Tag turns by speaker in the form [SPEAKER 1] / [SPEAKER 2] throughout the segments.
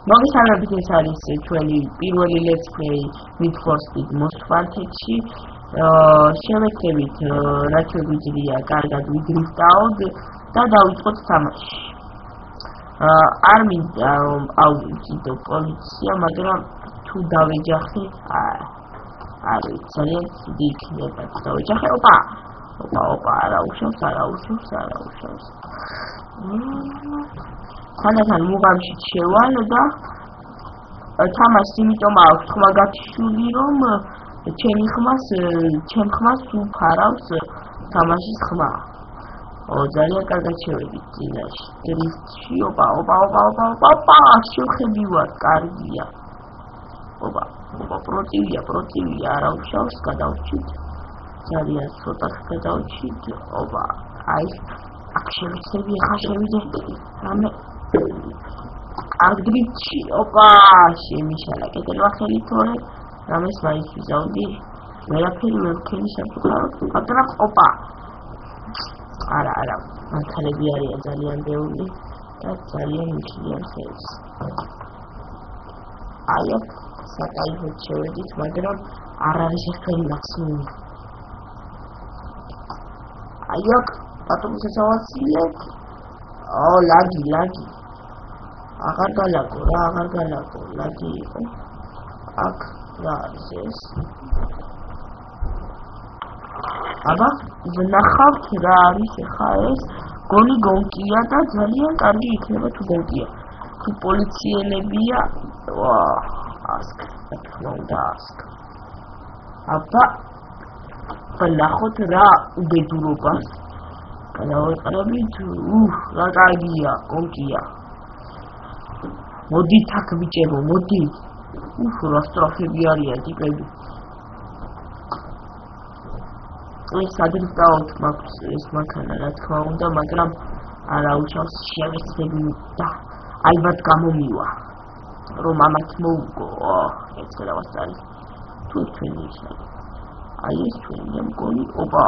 [SPEAKER 1] მოგესალმებით, ეს არის ჩვენი პირველი let's play Need for Speed Most Wanted-ში. შევეცდებით, რაც შეგვიძლია, კარგად ვიდრიფტავთ და დავიწყოთ თამაში. არ მინდა ავიდო პოლიცია, მაგრამ თუ დავეჯახე, არ ვიცი, ძალიან დიდი იქნება თუ დავეჯახე. ოპა, არა უშავს. ხანდახან მუღამში შევალ და თამაშს იმიტომ აქვს ხმა გათიშული, რომ ჩემ ხმას უფარავს თამაშის ხმა. ძალიან კარგად შევედით წინაშე. დრიფტში, ოპა, შევხედივარ, კარგია. ოპა, პროტივია, არა უშავს, გადავჭით. ძალიან ცოტა გადავჭით. ოპა, აი, აქ შევეცდები, ახლა შევიდე. რამე კარგ დრიფტში, ოპა, შემიშალა კეთილმა ხელი თორე. რამეს მაინც ვიზავდი. ვერაფერი ვერ ვქენი სამწუხაროდ, მაგრამ ოპა. არა, მანქანები არიან ძალიან ბევრი და ძალიან მიხიან ხელს. აი აქ საკაიფოდ შევედით, მაგრამ არ არის ერთელი მაქსიმუმი. აი აქ ბატონსაც ავაცილებთ. ლაგი. აღარ გალაგო, ლაგი იყო. აქ რა არის ეს? აბა, ვნახავთ რა არის ახლა ეს? გონი გონკია და ძალიან კარგი იქნება თუ გონკია. თუ პოლიციელებია, ასკ. აბა, ვნახოთ რა უბედურობას. გადავეყრებით, რა კარგია, გონკია. მოდით აქ ბიჭებო, მოდით. რა სტრაფები არიან ტიპები. ეს ადრიფტავთ მაქვს ეს მანქანა, რა თქმა უნდა, მაგრამ არა უშავს შევეცდები და ალბათ გამომივა, რომ ამათ მოუგო. ეს გადავასწარი. თუ თქვენი ისე. აი ეს თქვენი მგონი, ოპა.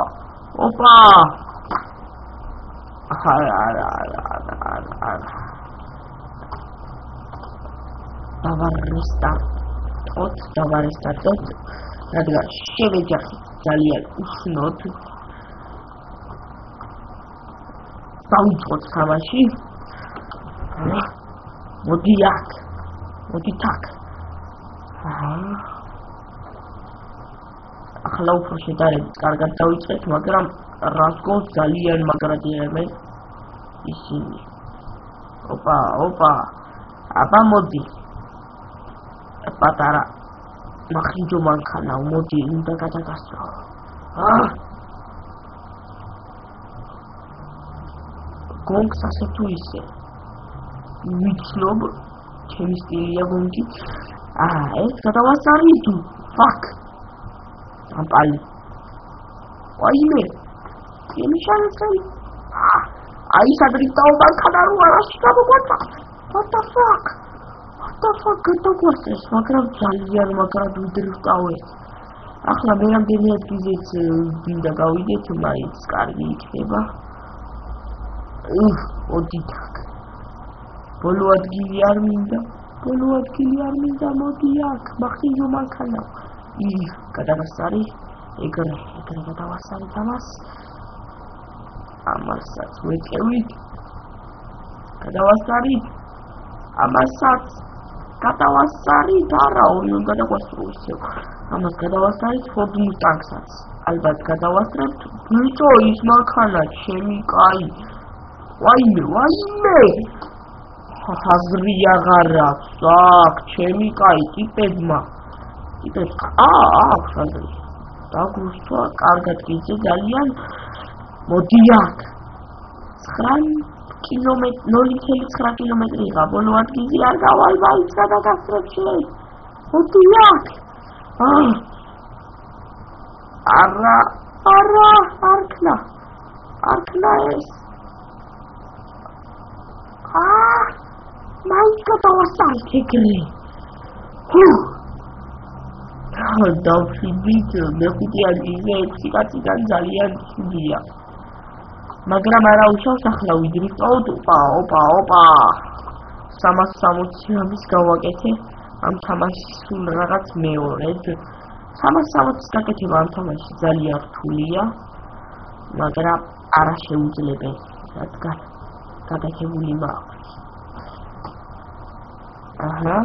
[SPEAKER 1] არა. დავარესტარტოთ, რადგან შევეჯახით ძალიან უშნოდ. დავიწყოთ თამაში. მოდით აქ. ახლა უფრო შედარებით კარგად დავიწყეთ, მაგრამ რას გონს ძალიან მაგრადიანებენ ისინი. ოპა. აბა მოდი. პატარა მახინჯო მანქანა, მოდი, უნდა გადაგასწრო. გონგს ასე თუ ისე. ვიცნობ, ჩემი სტილია გონგი. ეს გადავასწარი თუ. ფაკ. ამპალი. ვაიმე. შემიშალე. აი სადრიფტაო მანქანა რო არაში გამოგვაწყდა. What the fuck? გადაგვასწრეს, მაგრამ ძალიან მაგრად ვიდრიფტავეთ. ახლა მე რამდენი ადგილზეც მინდა გავიდეთ, მაინც კარგი იქნება. მოდით აქ. ბოლო ადგილი არ მინდა, მოდი აქ, მახინჯო მანქანა. გადავასწარი, ეგრე გადავასწარით ამას. ამასაც ვეწევით. გადავასწარით. ამასაც გადავასწარით, არა, ორი უნდა გადავასწრო ისევ. ამას გადავასწარით Ford Mustang-საც. ალბათ გადავასწრებთ. ბიჭო, ის მანქანა ჩემი კაი. ვაიმე. ხაზრი აღარ აქვს. აქ ჩემი კაი ტიპებმა. აქვს ხაზრი. დაგუსტვა, კარგად გიძე ძალიან. მოდი აქ. 0.9 კილომეტრია, ბოლო ადგილზე არ გავალ, მაინც გადაგასწრებ შენ. მოდი აქ. არა, არქნა ეს. მაინც გადავასწარით ეგრე. დავშვიდით, მეხუთე ადგილზე 6 კაციდან ძალიან ცუდია. მაგრამ არა უშავს ახლა ვიდრიფტავთ. ოპა. 360 ამის გავაკეთე ამ თამაშის სულ რაღაც მეორედ 360-ის გაკეთება ამ თამაშში ძალიან რთულია მაგრამ არა შეუძლებელი რადგან გაკეთებული მაქვს აჰა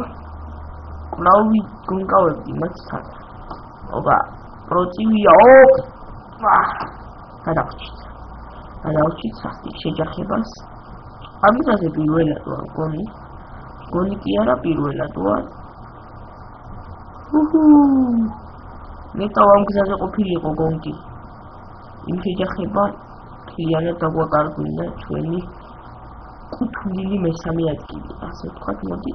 [SPEAKER 1] კлауვი გონკავები მასთან ობა პროცივია გადავჭით სასტიკ შეჯახებას ამიტომაც პირველად ვარ გონი კი არა პირველად ვარ მეტავ ამ გზაზე ყოფილიყო გონკი იმ შეჯახება მთლიანად დაგვაკარგვინა ჩვენი კუთვნილი მესამე ადგილი ასე ვთქვათ მოდი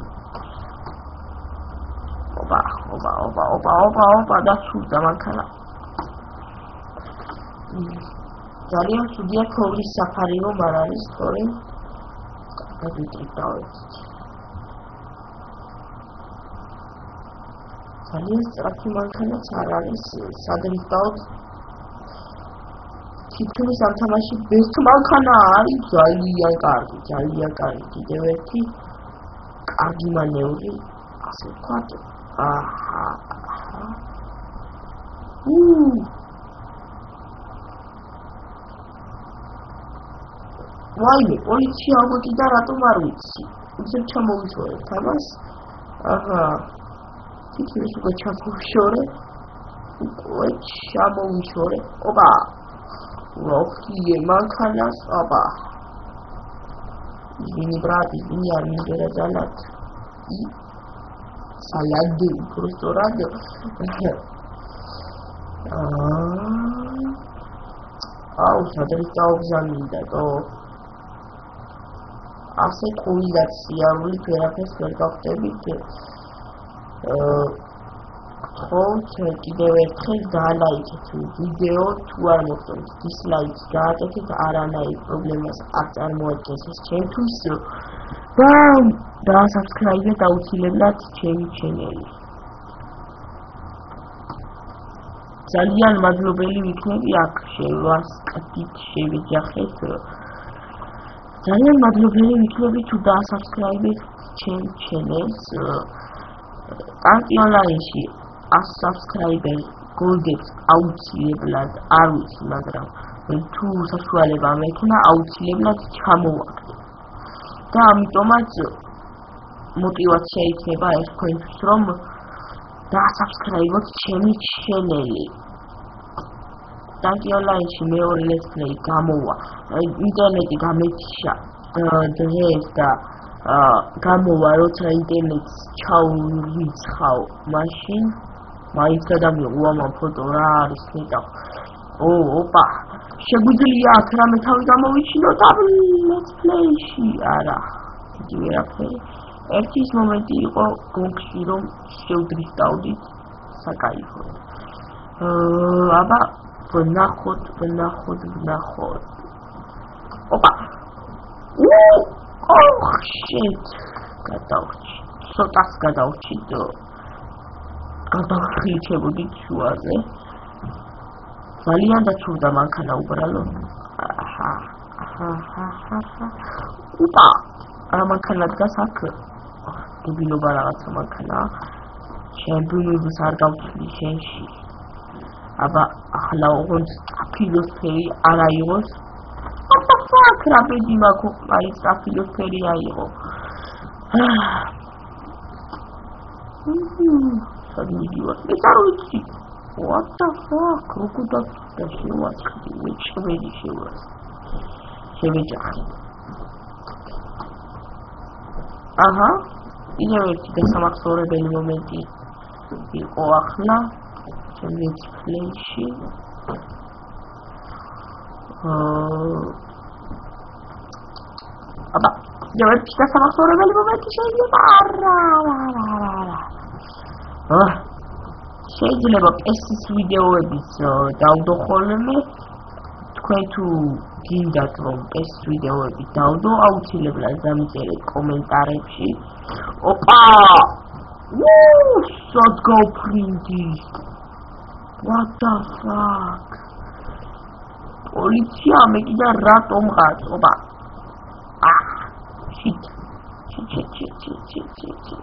[SPEAKER 1] ობა დაცურდა მანქანა ძალიან სუდია ქოვრის საფარი რომ არ არის თორემ გადავიტრიდავთ ძალიან სწრაფი მანქანაც არ არის სადრიდავთ თითქმის ამ თამაში ბესტ მანქანა არის ძალიან კარგი კიდევ ერთი კარგი მანევრი ასე ვთქვათ აჰა ვაიმე პოლიცია მოგიდა რატომ არ ვიცი უცებ ჩამოვიშორეთ ამას აჰა თითქმის უკვე ჩამოვიშორე ოპა როხიე მანქანას ოპა ისინი ბრატი ისინი არ მიგერა ძალად саляды просто рады აუ სადრიდაო გზამინდა თო ასე ყოლიდაც სიარულით ვერაფერს ვერ გავხდებით გთხოვთ კიდევ ერთხელ დაალაიქეთ ვიდეო თუ არ მოხდეთ დისლაიქს გააკეთეთ არანაირ პრობლემას არ წარმოადგენს ეს ჩემთვის და დაასაბსკრაიბეთ აუცილებლად ჩემი ჩენელი ძალიან მადლობელი ვიქნები აქ შევასკდით შევეჯახეთ ძალიან მადლობელი ვიქნები თუ დაასაბსკრაიბეთ ჩემ ჩენელს ტანკი ონლაინში 100 subscriber გოლდებს აუცილებლად არ ვიცი მაგრამ თუ საშუალება მექნა აუცილებლად ჩამოვაგდე და ამიტომაც мотивация იქნება ეს თქვენთვის რომ დაასაბსკრაიბოთ ჩემი ჩენელი ტანკი ონლაინში მეორე let's play გამოვა ინტერნეტი გამეჩია დღეს და გამოვა როცა ინტერნეტს ჩაურიცხავ მაშინ მაინც გადამიღო ამ ფოტო რა არის ნეტავ ოპა შეგვიძლია აქ რამე თავი გამოვიჩინოთ ამ let's play-ში არა იგი ვერაფერი ერთის მომენტი იყო გონკში რომ შევდრიფტავდით საკაიფოდ აბა ვნახოთ ოპა Oh shit! გადავჭი. ცოტას გადავჭი და გადავხიჩებოდი შუაზე. ძალიან დაცურდა მანქანა უბრალოდ. აჰა. ოპა! რა მანქანა დგას აქ? დებილობა რაღაცა მანქანა. ჩემბუნებს არ გავცვლი შენში. აბა ახლა ოღონდ სტაფილოსფერი არ აიღოს. Fuck, rapidi maku, ai stafilosferi aigă. Să-mi idiot. Deci ar uiți. What the fuck? Rucu da și eu ați câte. Ce vedi și eu azi? Ce vedi azi? Aha. Bine vezi că s-am axore pe momentii. E o ahla. Ce vezi play și... აბა ჯერჯერობით დასამახსოვრებელი მომენტი შეიძლება შეიძლება ეს ვიდეოების დავდო ხოლმე თქვენ თუ გინდათ რომ ეს ვიდეოები დავდო აუცილებლად დამიწერეთ კომენტარებში ოპა სად გავფრინდი what the fuck პოლიცია მე კიდე რატომ ყავს ოპა ჩი